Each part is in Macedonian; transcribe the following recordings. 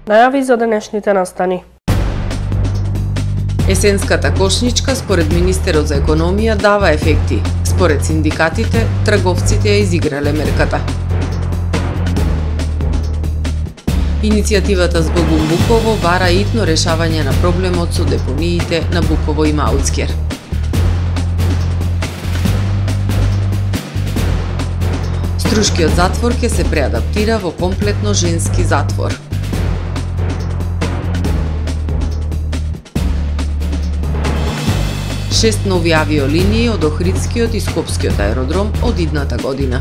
Најави за денешните настани. Есенската кошничка според министерот за економија дава ефекти. Според синдикатите, трговците ја изиграле мерката. Иницијативата Збогум Буково бара итно решавање на проблемот со депониите на Буково и Маутскер. Струшкиот затвор ќе се преадаптира во комплетно женски затвор. Шест нови авиолинии од Охридскиот и Скопскиот аеродром од идната година.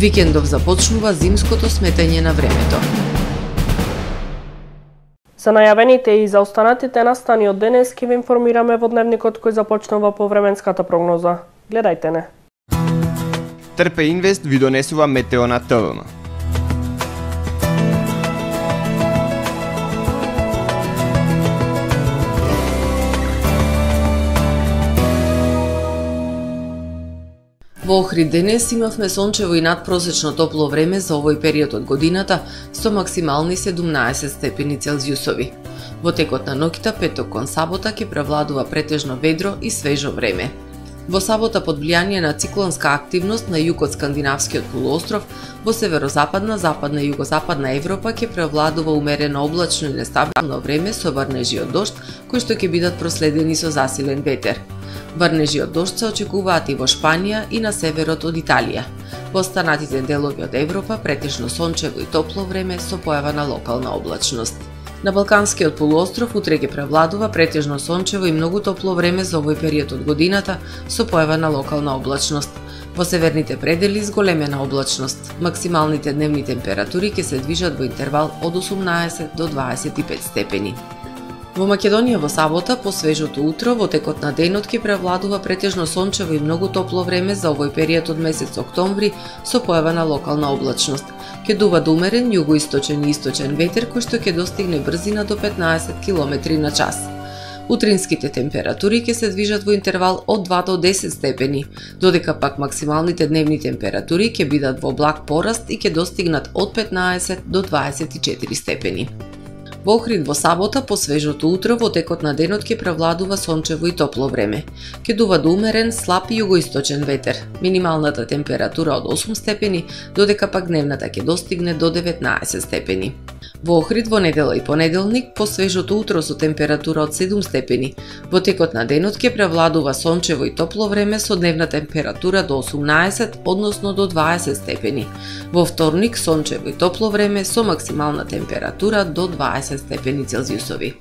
Викендов започнува зимското сметање на времето. За најавените и за останатите настани од денес ќе ве информираме во дневникот кој започнува по временската прогноза. Гледајте не. Трпе Инвест ви донесува метео на ТВМ. Во Охрид денес имавме сончево и надпросечно топло време за овој период од годината со максимални 17 степени Целзиусови. Во текот на ноќта, петок кон сабота, ќе превладува претежно ведро и свежо време. Во сабота под влијание на циклонска активност на југ од скандинавскиот полуостров, во северозападна, западна и југозападна Европа ќе превладува умерено облачно и нестабилно време со врнежи од дожд, кои што ќе бидат проследени со засилен ветер. Врнежи од дожд се очекуваат и во Шпанија и на северот од Италија. Во останатите делови од Европа претежно сончево и топло време со појава на локална облачност. На Балканскиот полуостров утре ќе превладува претежно сончево и многу топло време за овој период од годината со појава на локална облачност. Во северните предели зголемена облачност. Максималните дневни температури ќе се движат во интервал од 18 до 25 степени. Во Македонија во сабота, по свежото утро, во текот на денот ќе превладува претежно сончево и многу топло време за овој период од месец октомври со појава на локална облачност. Ќе дува до умерен југоисточен и источен ветер кој што ќе достигне брзина до 15 км на час. Утринските температури ќе се движат во интервал од 2 до 10 степени, додека пак максималните дневни температури ќе бидат во благ пораст и ќе достигнат од 15 до 24 степени. Во Охрид во сабота, по свежото утро, во текот на денот ќе превладува сончево и топло време. Ќе дува до умерен, слаб југоисточен ветер. Минималната температура од 8 степени, додека пак дневната ќе достигне до 19 степени. Во Охрид во недела и понеделник, по свежото утро со температура од 7 степени. Во текот на денот ќе превладува сончево и топло време со дневна температура до 18, односно до 20 степени. Во вторник сончево и топло време со максимална температура до 20 степени Целзиусови.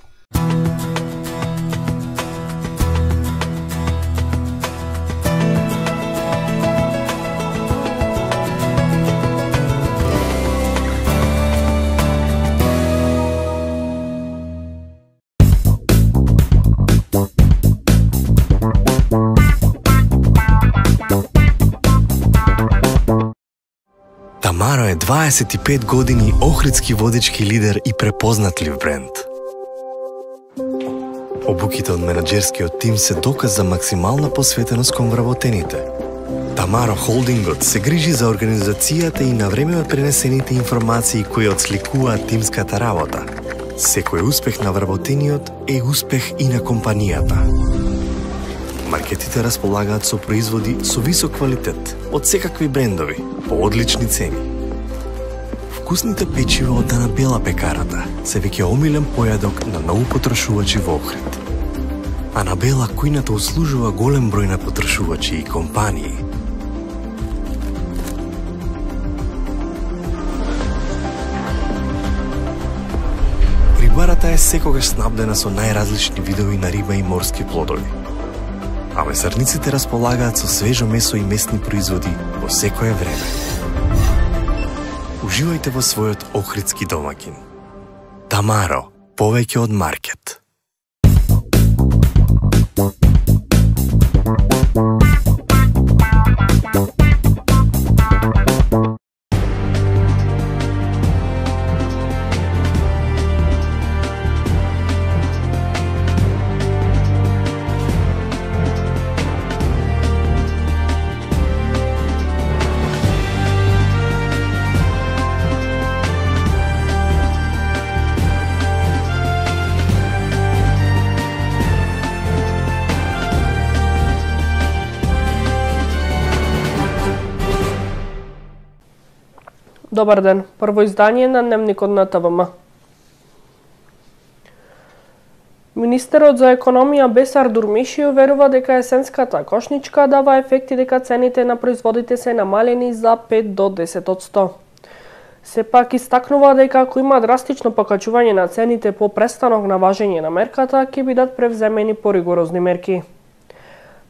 Тамаро е 25 години охридски водечки лидер и препознатлив бренд. Обуките од менаџерскиот тим се доказ за максимална посветеност кон вработените. Тамаро Холдингот се грижи за организацијата и на време пренесените информации кои отсликуваат тимската работа. Секој успех на вработениот е успех и на компанијата. Маркетите располагаат со производи со висок квалитет од секакви брендови по одлични цени. Вкусните печива од Анабела пекарата се веќе омилен појадок на многу потрошувачи во Охрид. Анабела кујната услужува голем број на потрошувачи и компании. Рибарата е секогаш снабдена со најразлични видови на риба и морски плодови. А месарниците располагаат со свежо месо и месни производи во секое време. Уживајте во својот охридски домаќин. Тамаро, повеќе од маркет. Добар ден, прво издание на Дневникот на ТВМ. Министерот за економија Бесар Дурмиши уверува дека есенската кошничка дава ефекти дека цените на производите се намалени за 5 до 10%. Сепак истакнува дека ако има драстично покачување на цените по престанок на важење на мерката, ќе бидат превземени поригорозни мерки.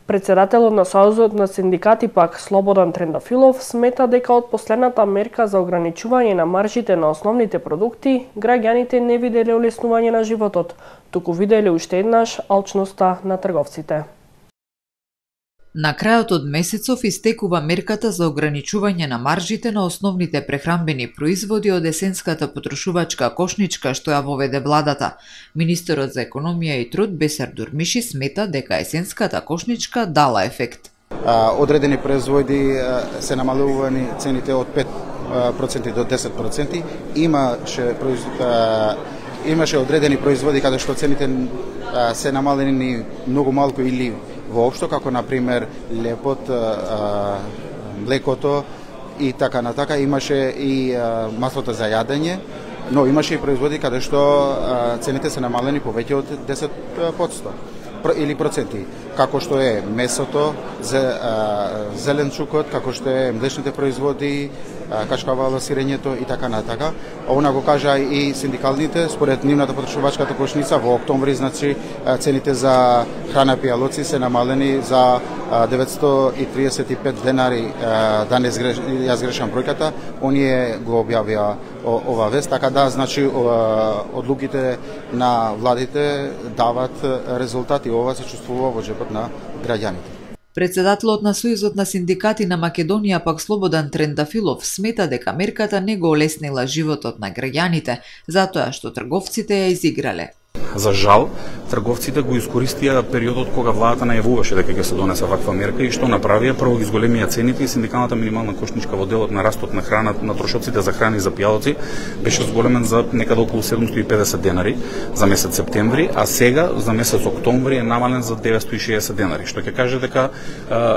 Председателот на Сојузот на синдикати пак Слободан Трендафилов смета дека од последната мерка за ограничување на маржите на основните продукти, граѓаните не виделе олеснување на животот, туку виделе уште еднаш алчноста на трговците. На крајот од месецов истекува мерката за ограничување на маржите на основните прехранбени производи од есенската потрошувачка кошничка што ја воведе владата. Министерот за економија и труд Бесар Дурмиши смета дека есенската кошничка дала ефект. Одредени производи се намалувани цените од 5% до 10%. Имаше одредени производи каде што цените се намалени многу малку или воопшто, како например лепот, млекото и така натака. Имаше и маслото за јадење, но имаше и производи каде што цените се намалени повеќе од 10% или проценти, како што е месото, зеленчукот, како што е млечните производи, качкавало, сирењето и така натака. Она го кажа и синдикалните, според нивната потрошувачката кошница во октомври, значи цените за храна пијалоци се намалени за 935 денари, да не ја сгрешам бројката, оние го објавија ова вест, така да, значи одлуките на владите дават резултати, ова се чувствува во джепот на граѓаните. Председателот на Сојузот на синдикати на Македонија пак Слободан Трендафилов смета дека мерката не го олеснила животот на граѓаните, затоа што трговците ја изиграле. За жал, трговците го искористија периодот кога владата најавуваше дека ќе се донесе ваква мерка и што направија, прво ги зголемија цените и синдикалната минимална кошничка во делот на растот на храна, на трошоците за храни за пијалоци беше зголемен за некаде околу 750 денари за месец септември, а сега за месец октомври е намален за 960 денари, што ќе каже дека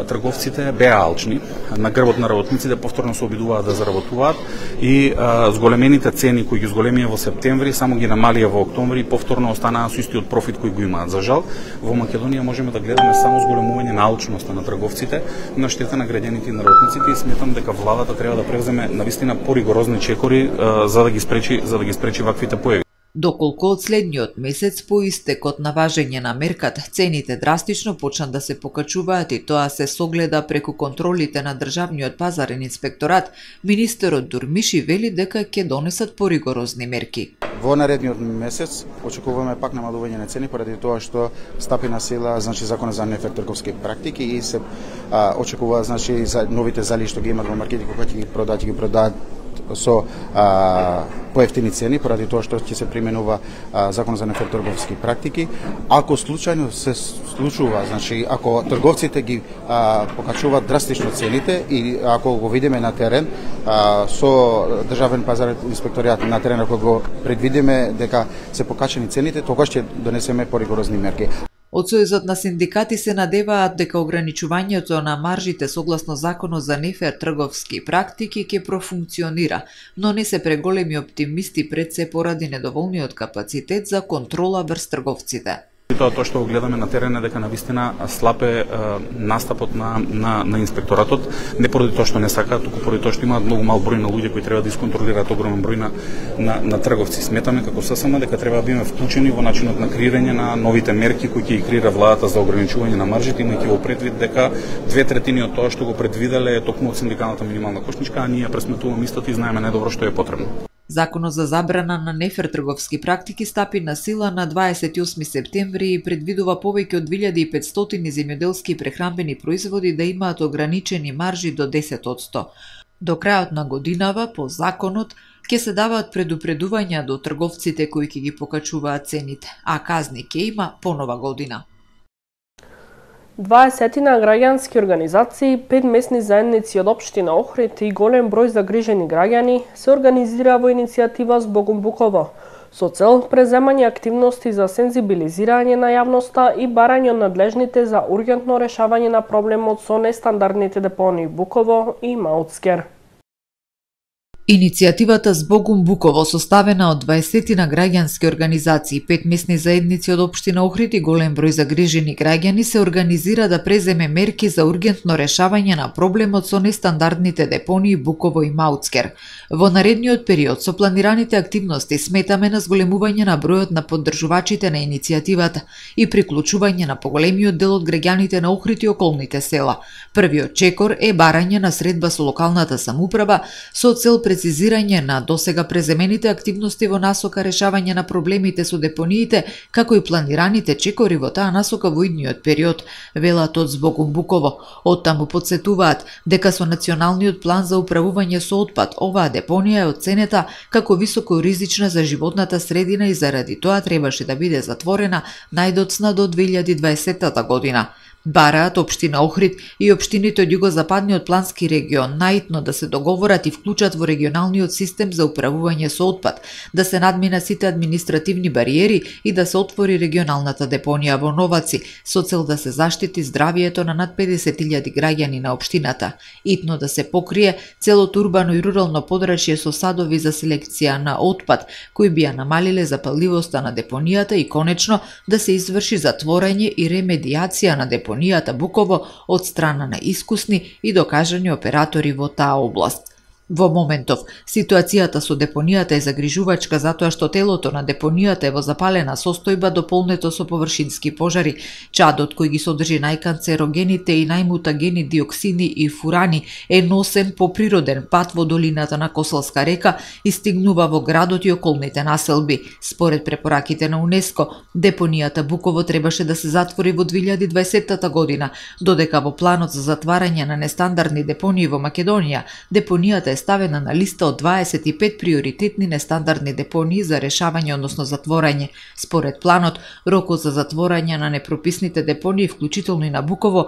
трговците беа алчни, на грбот на работниците повторно се обидуваат да заработуваат и зголемените цени кои ги зголемија во септември само ги намалија во октомври и повторно останаа со истиот профит кој го имаат. За жал, во Македонија можеме да гледаме само зголемување на алчноста на трговците на штета на граѓаните и на работниците и сметам дека владата треба да превземе навистина поригорозни чекори за да ги спречи ваквите појави. Доколку од следниот месец по истекот на важење на мерката цените драстично почнат да се покачуваат и тоа се согледа преку контролите на Државниот пазарен инспекторат, министерот Дурмиши вели дека ќе донесат поригорозни мерки. Во наредниот месец очекуваме пак намалување на цени поради тоа што стапи на сила, значи, законот за нефер трговски практики и се очекува, значи, за новите зали што ги имат во маркетите кога ќе ги продаат со поевтини цени поради тоа што ќе се применува законот за нефер трговски практики. Ако случајно се случува, значи ако трговците ги покачуваат драстично цените и ако го видиме на терен со Државен пазарен инспекторијат на терен, ако го предвидиме дека се покачени цените, тогаш ќе донесеме поригорозни мерки. Од Сојузот на синдикати се надеваат дека ограничувањето на маржите согласно законот за нефер трговски практики ќе профункционира, но не се преголеми оптимисти пред се поради недоволниот капацитет за контрола врз трговците. Тоа што го гледаме на терен е дека навистина слаб е настапот на инспекторатот, не поради тоа што не сакаат, туку поради тоа што имаат многу мал број на луѓе кои треба да исконтролираат огромен број на трговци. Сметаме како ССМ дека треба да бидеме вклучени во начинот на креирање на новите мерки кои ќе ги креира владата за ограничување на маржите, имајќи во предвид дека 2/3 од тоа што го предвиделе е токму од синдикалната минимална кошничка, а ние пресметуваме истото и знаеме најдобро што е потребно. Законот за забрана на нефер трговски практики стапи на сила на 28 септември и предвидува повеќе од 2500 земјоделски прехранбени производи да имаат ограничени маржи до 10%. До крајот на годинава, по законот, ќе се даваат предупредувања до трговците кои ќе ги покачуваат цените, а казни ќе има по нова година. 20 граѓански организации, 5 месни заедници од општина Охрид и голем број загрижени граѓани се организира во иницијатива Збогум Буково, со цел преземање активности за сензибилизирање на јавноста и барање од надлежните за ургентно решавање на проблемот со нестандардните депонии Буково и Маутскер. Иницијативата Збогум Буково, составена од 20 на граѓански организации, 5 месни заедници од општина Охрид и голем број загрижени граѓани, се организира да преземе мерки за ургентно решавање на проблемот со нестандардните депонии Буково и Мауцкер. Во наредниот период со планираните активности сметаме на зголемување на бројот на поддржувачите на иницијативата и приклучување на поголемиот дел од граѓаните на Охрид и околните села. Првиот чекор е барање на средба со локалната самоуправа со цел прецизирање на досега преземените активности во насока решавање на проблемите со депониите, како и планираните чекори во таа насока во идниот период, велат од Збогум Буково. Оттаму потсетуваат дека со националниот план за управување со отпад оваа депонија е оценета како високо ризична за животната средина и заради тоа требаше да биде затворена најдоцна до 2020 година. Бараат општина Охрид и општините од југозападниот плански регион наитно да се договорат и вклучат во регионалниот систем за управување со отпад, да се надминат сите административни бариери и да се отвори регионалната депонија во Новаци со цел да се заштити здравието на над 50.000 граѓани на општината. Итно да се покрие целото урбано и рурално подрачје со садови за селекција на отпад, кои би ја намалиле запалливоста на депонијата и конечно да се изврши затворање и ремедијација на депонијата Буково од страна на искусни и докажани оператори во таа област. Во моментов, ситуацијата со депонијата е загрижувачка затоа што телото на депонијата е во запалена состојба дополнето со површински пожари. Чадот кој ги содржи најканцерогените и најмутагени диоксини и фурани е носен по природен пат во долината на Косалска река и стигнува во градот и околните населби. Според препораките на УНЕСКО, депонијата Буково требаше да се затвори во 2020 година, додека во планот за затварање на нестандардни депонии во Македонија, депонијата е ставена на листа од 25 приоритетни нестандардни депонии за решавање, односно затворање. Според планот, рокот за затворање на непрописните депонии, вклучително и на Буково,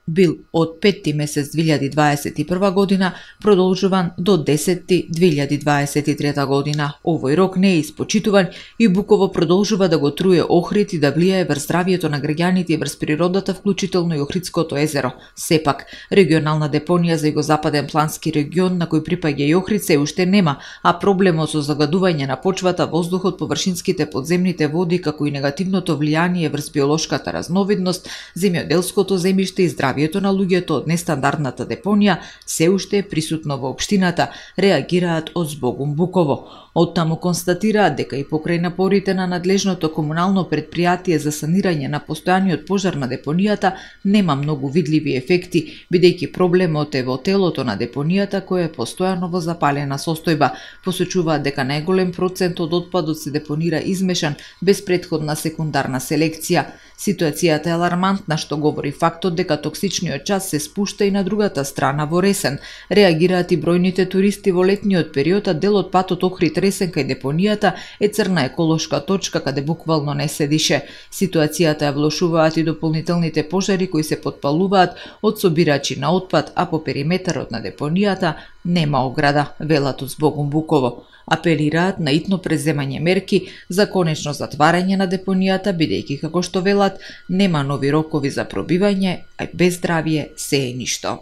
бил од 5 месец 2021 година продолжуван до 10 2023 година. Овој рок не е испочитуван и Буково продолжува да го труе Охрид и да влијае врз здравието на граѓаните и врз природата, вклучително и Охридското езеро. Сепак, регионална депонија за југозападен плански регион на кој припаѓа и Охрид се уште нема, а проблемот со загадување на почвата, воздухот, површинските подземните води, како и негативното влијание врз биолошката разновидност, земјоделското земјиште и здравието на луѓето од нестандардната депонија се уште е присутно во општината, реагираат од Збогум Буково. Оттаму констатираат дека и покрај напорите на надлежното комунално предпријатие за санирање на постојаниот пожар на депонијата нема многу видливи ефекти, бидејќи проблемот е во телото на депонијата која е постојано во запалена состојба. Посочуваат дека најголем процент од отпадот се депонира измешан без претходна секундарна селекција. Ситуацијата е алармантна, што говори фактот дека токсичниот час се спушта и на другата страна во Ресен. Реагираат и бројните туристи во летниот период, а дел од патот Охрид Ресен кај депонијата е црна еколошка точка каде буквално не се дише. Ситуацијата ја влошуваат и дополнителните пожари кои се потпалуваат од собирачи на отпад, а по периметарот на депонијата нема ограда, велат од Збогум Буково. Апелираат на итно преземање мерки за конечно затварање на депонијата, бидејќи, како што велат, нема нови рокови за пробивање, а без здравје се е ништо.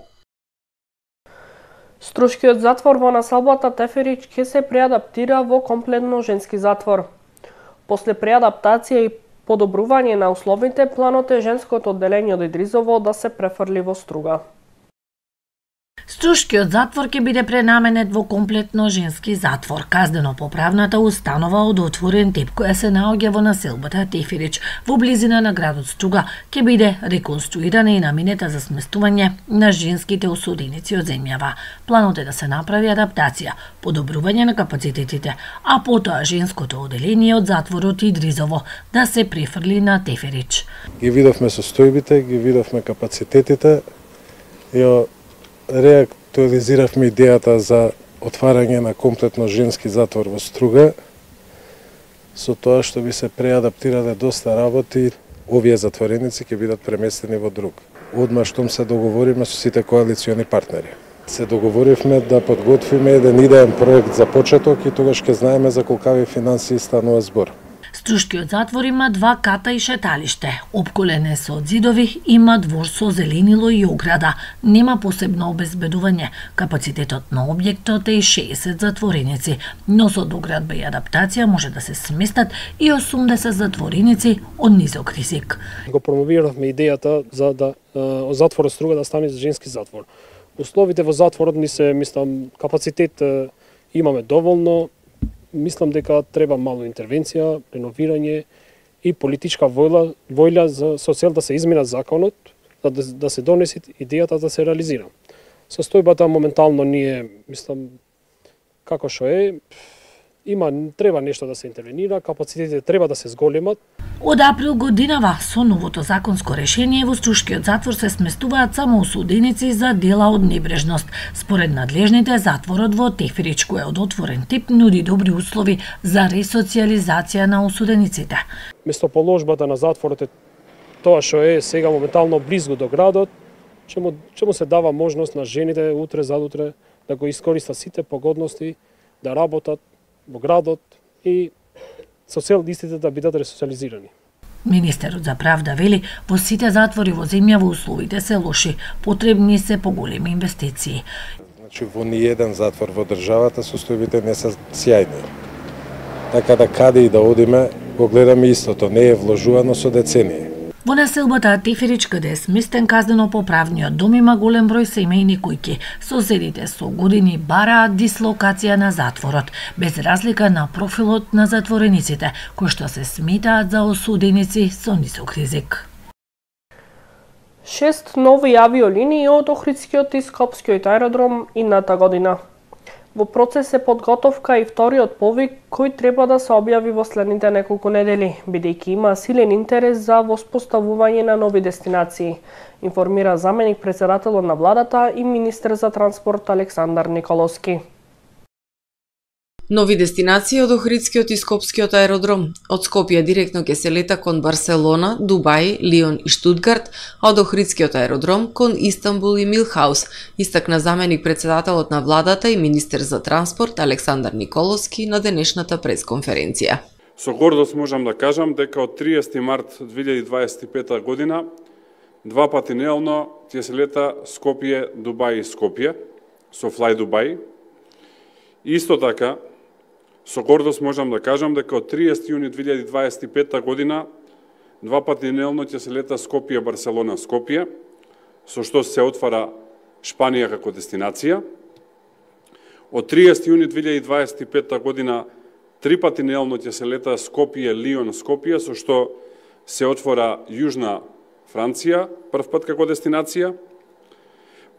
Струшкиот затвор во населбата Теферич ќе се преадаптира во комплетно женски затвор. После преадаптација и подобрување на условите, планот е женското одделение од Идризово да се префрли во Струга. Струшкиот затвор ќе биде пренаменет во комплетно женски затвор. Казнено-поправната установа од отворен тип која се наоѓа во населбата Теферич во близина на градот Струга ќе биде реконструирана и наминета за сместување на женските осуденици од земјава. Планот е да се направи адаптација, подобрување на капацитетите, а потоа женското одделение од затворот Идризово да се префрли на Теферич. Ги видовме состојбите, ги видовме капацитетите, реактуализиравме идејата за отварање на комплетно женски затвор во Струга, со тоа што би се преадаптирале доста работи, овие затвореници ќе бидат преместени во друг. Одма штом се договориме со сите коалициони партнери. Се договоривме да подготвиме еден идеен проект за почеток и тогаш ќе знаеме за колкави финансии станува збор. Струшкиот затвор има 2 ката и шеталиште. Опколен со зидови, има двор со зеленило и ограда. Нема посебно обезбедување. Капацитетот на објектот е 60 затвореници, но со доградба и адаптација може да се сместат и 80 затвореници од низок ризик. Го промовиравме идејата за да затворот Струга да стане женски затвор. Условите во затворот мислам, капацитет имаме доволно. Мислам дека треба мало интервенција, реновирање и политичка воља со цел да се измена законот, да се донесе идејата да се реализира. Состојбата моментално ние, мислам, како што е, треба нешто да се интервенира, капацитетите треба да се зголемат. Од април годинава со новото законско решение во Струшкиот затвор се сместуваат само осуденици за дела од небрежност. Според надлежните, затворот во Тефирич, кој е од отворен тип, нуди добри услови за ресоциализација на осудениците. Местоположбата на затворот е тоа што е сега моментално близко до градот, ќе му се дава можност на жените утре задутре да го искористат сите погодности, да работат во градот и со цел истите да бидат ресоциализирани. Министерот за правда вели, во сите затвори во земјава условите се лоши, потребни се поголеми инвестиции. Значи во ниеден затвор во државата состојбите не се сјајни. Така да каде и да одиме, го гледаме истото, не е вложувано со децении. Во населбата Тефирич, каде е сместен казнено-поправниот дом, има голем број семејни куќи. Соседите со години бараат дислокација на затворот, без разлика на профилот на затворениците, кои што се сметаат за осуденици со нисок ризик. 6 нови авиолинии од Охридскиот и Скопскиот аеродром идната година. Во процес е подготовка и вториот повик кој треба да се објави во следните неколку недели, бидејќи има силен интерес за воспоставување на нови дестинации, информира заменик председателот на владата и министер за транспорт Александар Николовски. Нови дестинации од Охридскиот и Скопскиот аеродром. Од Скопје директно ќе се лета кон Барселона, Дубај, Лион и Штутгарт, а од Охридскиот аеродром кон Истанбул и Милхаус, истакна заменик председателот на владата и министер за транспорт Александар Николовски на денешната пресконференција. Со гордост можам да кажам дека од 30 март 2025 година 2 пати неделно ќе се лета Скопје, Дубај и Скопје со Fly Dubai. Исто така, со гордост можам да кажам дека од 30 јуни 2025 година 2 пати неделно ќе се лета Скопје, Барселона, Скопје, со што се отвара Шпанија како дестинација. Од 30 јуни 2025 година 3 пати неделно ќе се лета Скопје, Лион, Скопје, со што се отвора Јужна Франција, прв пат како дестинација.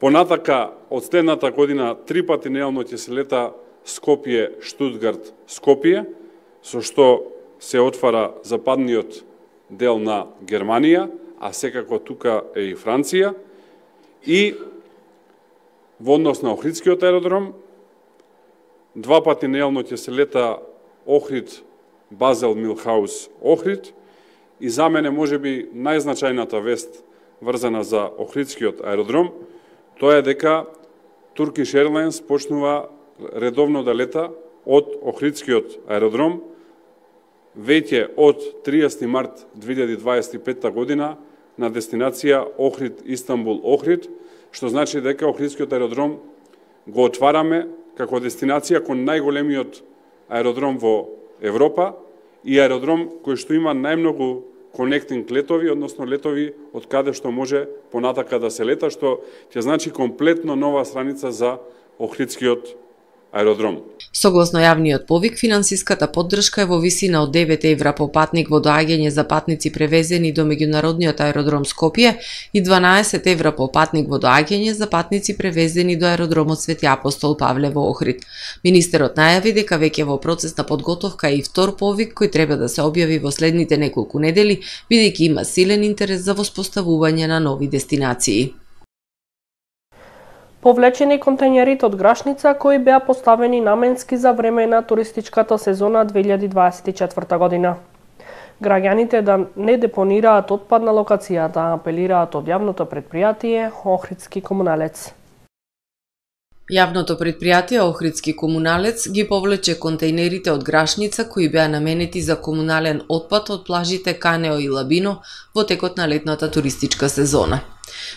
Понатака, од следната година 3 пати неделно ќе се лета Скопје, Штутгарт, Скопје, со што се отвара западниот дел на Германија, а секако тука е и Франција. И во однос на Охридскиот аеродром, 2 пати неделно ќе се лета Охрид, Базел, Милхаус, Охрид. И за мене можеби најзначајната вест врзана за Охридскиот аеродром, тоа е дека Turkish Airlines почнува редовно да лета од Охридскиот аеродром веќе од 30 март 2025 година на дестинација Охрид, Истанбул, Охрид, што значи дека Охридскиот аеродром го отвараме како дестинација кон најголемиот аеродром во Европа и аеродром кој што има најмногу конектинг летови, односно летови од каде што може понатака да се лета, што ќе значи комплетно нова страница за Охридскиот аеродром. Согласно јавниот повик, финансиската поддршка е во висина од 9 евра по патник во доаѓање за патници превезени до меѓународниот аеродром Скопје и 12 евра по патник во доаѓање за патници превезени до аеродромот Свети Апостол Павле во Охрид. Министерот најави дека веќе во процес на подготовка и втор повик кој треба да се објави во следните неколку недели, бидејќи има силен интерес за воспоставување на нови дестинации. Повлечени контејнерите од Грашница кои беа поставени наменски за време на туристичката сезона 2024 година. Граѓаните да не депонираат отпад на локацијата, апелираат од јавното претпријатие Охридски комуналец. Јавното предпријатие Охридски комуналец ги повлече контејнерите од Грашница кои беа наменети за комунален отпад од плажите Канео и Лабино во текот на летната туристичка сезона.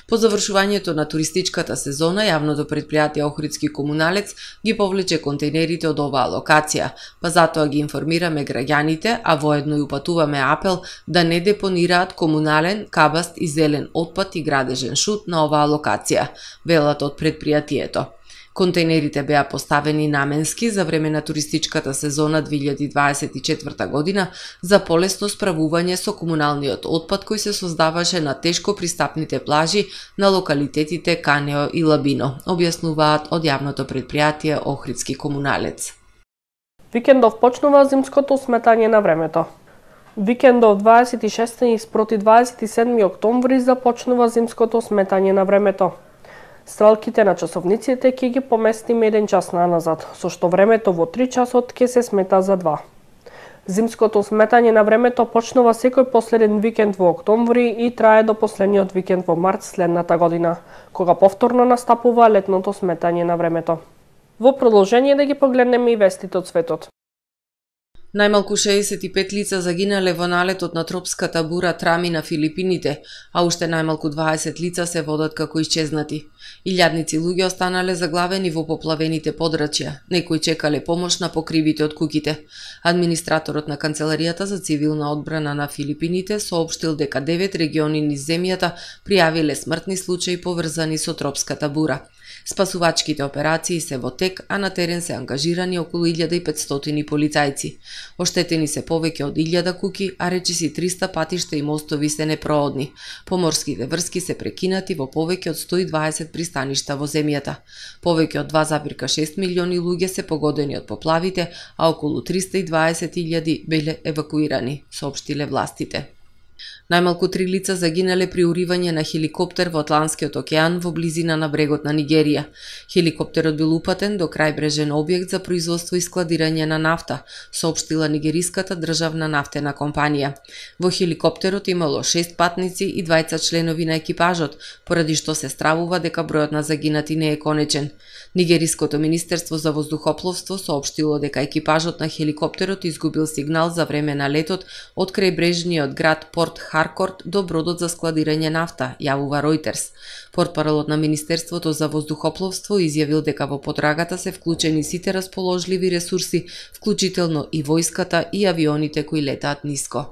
По завршувањето на туристичката сезона, јавното предпријатие Охридски комуналец ги повлече контејнерите од оваа локација, па затоа ги информираме граѓаните, а воедно и упатуваме апел да не депонираат комунален, кабаст и зелен отпад и градежен шут на оваа локација, велат од предпријатието. Контејнерите беа поставени наменски за време на туристичката сезона 2024 година за полесно справување со комуналниот отпад кој се создаваше на тешко пристапните плажи на локалитетите Канео и Лабино, објаснуваат од јавното предпријатие Охридски комуналец. Викендов почнува зимското сметање на времето. Викендов 26 спроти 27 октомври започнува зимското сметање на времето. Стрелките на часовниците ќе ги поместиме 1 час наназад, со што времето во 3 часот ќе се смета за 2. Зимското сметање на времето почнува секој последен викенд во октомври и трае до последниот викенд во март следната година, кога повторно настапува летното сметање на времето. Во продолжение да ги погледнеме и вестите од светот. Најмалку 65 лица загинале во налетот на тропската бура Трами на Филипините, а уште најмалку 20 лица се водат како исчезнати. Илјадници луѓе останале заглавени во поплавените подрачја, некои чекале помош на покривите од куќите. Администраторот на Канцеларијата за цивилна одбрана на Филипините соопштил дека 9 региони низ земјата пријавиле смртни случаи поврзани со тропската бура. Спасувачките операции се во тек, а на терен се ангажирани околу 1500 полицајци. Оштетени се повеќе од 1000 куќи, а речиси 300 патишта и мостови се непроодни. Поморските врски се прекинати во повеќе од 120 пристаништа во земјата. Повеќе од 2,6 милиони луѓе се погодени од поплавите, а околу 320.000 биле евакуирани, соопштиле властите. Најмалку 3 лица загинале при уривање на хеликоптер во Атлантскиот океан во близина на брегот на Нигерија. Хеликоптерот бил упатен до крајбрежен објект за производство и складирање на нафта, соопштила нигериската државна нафтена компанија. Во хеликоптерот имало 6 патници и 2 членови на екипажот, поради што се стравува дека бројот на загинати не е конечен. Нигериското министерство за воздухопловство соопштило дека екипажот на хеликоптерот изгубил сигнал за време на летот од крајбрежниот град Порт Харкорт до бродот за складирање нафта, јавува Ројтерс. Портпаролот на Министерството за воздухопловство изјавил дека во потрагата се вклучени сите расположливи ресурси, вклучително и војската и авионите кои летаат ниско.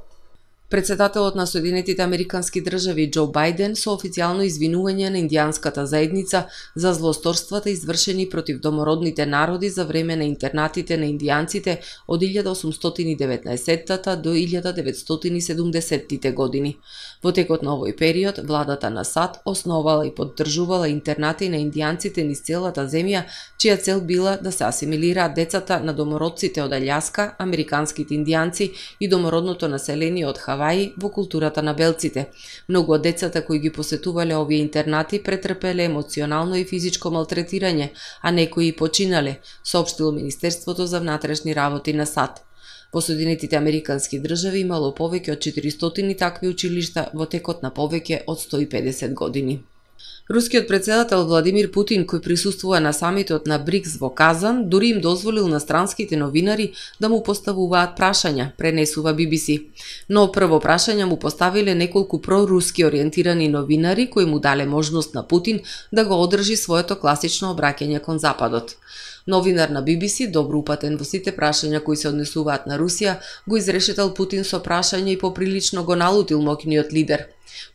Председателот на Соединетите Американски држави Џо Бајден со официјално извинување на индијанската заедница за злосторствата извршени против домородните народи за време на интернатите на индијанците од 1819 до 1970 години. Во текот на овој период, владата на САД основала и поддржувала интернати на индијанците низ целата земја, чија цел била да се асимилираат децата на домородците од Аљаска, американските индијанци и домородното население од Хаваи во културата на белците. Многу од децата кои ги посетувале овие интернати претрпеле емоционално и физичко малтретирање, а некои и починале, соопштило Министерството за внатрешни работи на САД. Во Соединетите Американски држави имало повеќе од 400 такви училишта во текот на повеќе од 150 години. Рускиот председател Владимир Путин, кој присуствува на самитот на БРИКС во Казан, дури им дозволил на странските новинари да му поставуваат прашања, пренесува BBC. Но прво прашања му поставиле неколку проруски ориентирани новинари кои му дале можност на Путин да го одржи своето класично обраќање кон Западот. Новинар на BBC, добро упатен во сите прашања кои се однесуваат на Русија, го изрешетал Путин со прашање и поприлично го налутил моќниот лидер.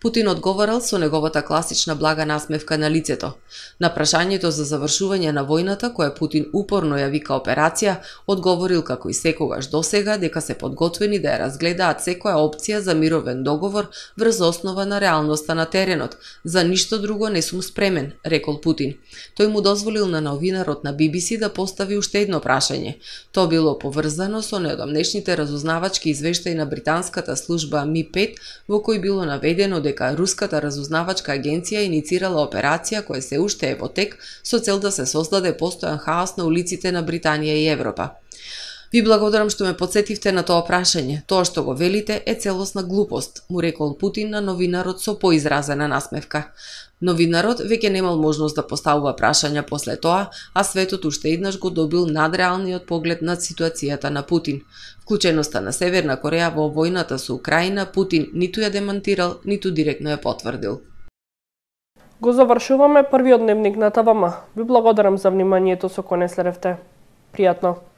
Путин одговорал со неговата класична блага насмевка на лицето. На прашањето за завршување на војната, која Путин упорно ја вика операција, одговорил како и секогаш досега дека се подготвени да ја разгледаат секоја опција за мировен договор врз основа на реалноста на теренот. За ништо друго не сум спремен, рекол Путин. Тој му дозволил на новинарот на BBC да постави уште едно прашање. Тоа било поврзано со неодамнешните разузнавачки извештаи на британската служба Ми-5, во кој било наведено дека руската разузнавачка агенција иницирала операција која се уште е во тек со цел да се создаде постојан хаос на улиците на Британија и Европа. Ви благодарам што ме потсетивте на тоа прашање. Тоа што го велите е целосна глупост, му рекол Путин на новинарот со поизразена насмевка. Новинарот веќе немал можност да поставува прашања после тоа, а светот уште еднаш го добил надреалниот поглед над ситуацијата на Путин. Вклученоста на Северна Кореја во војната со Украина Путин ниту ја демантирал, ниту директно ја потврдил. Го завршуваме првиот дневник на ТВМ. Ви благодарам за вниманието со кој не следевте. Пријатно.